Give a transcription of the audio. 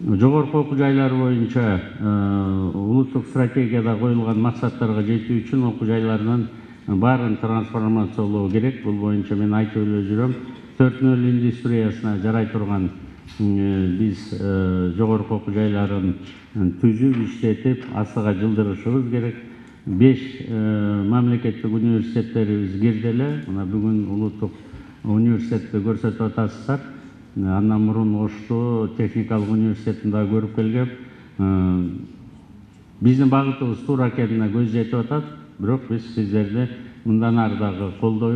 жогорку окуу жайлар боюнча улуттук стратегияда коюлган максаттарга жетүү үчүн окуу жайларынын баарын трансформациялоо керек. Бул боюнча мен айтып эле жүрөм. 4.0 индустриясына жарай турган биз жогорку окуу жайларын түзүп, иштетип, астыга жылдырышыбыз керек. 5 мамлекеттик университеттерибиз кирди эле. Мына бүгүн улуттук университетти көрсөтүп атасыздар. Андан мурун Ошту техникалык университетин да көрүп келгем. Биздин багытыбыз туура экенине көз жетип атат. Бирок биз сиздерди мындан ары дагы колдоюбуз.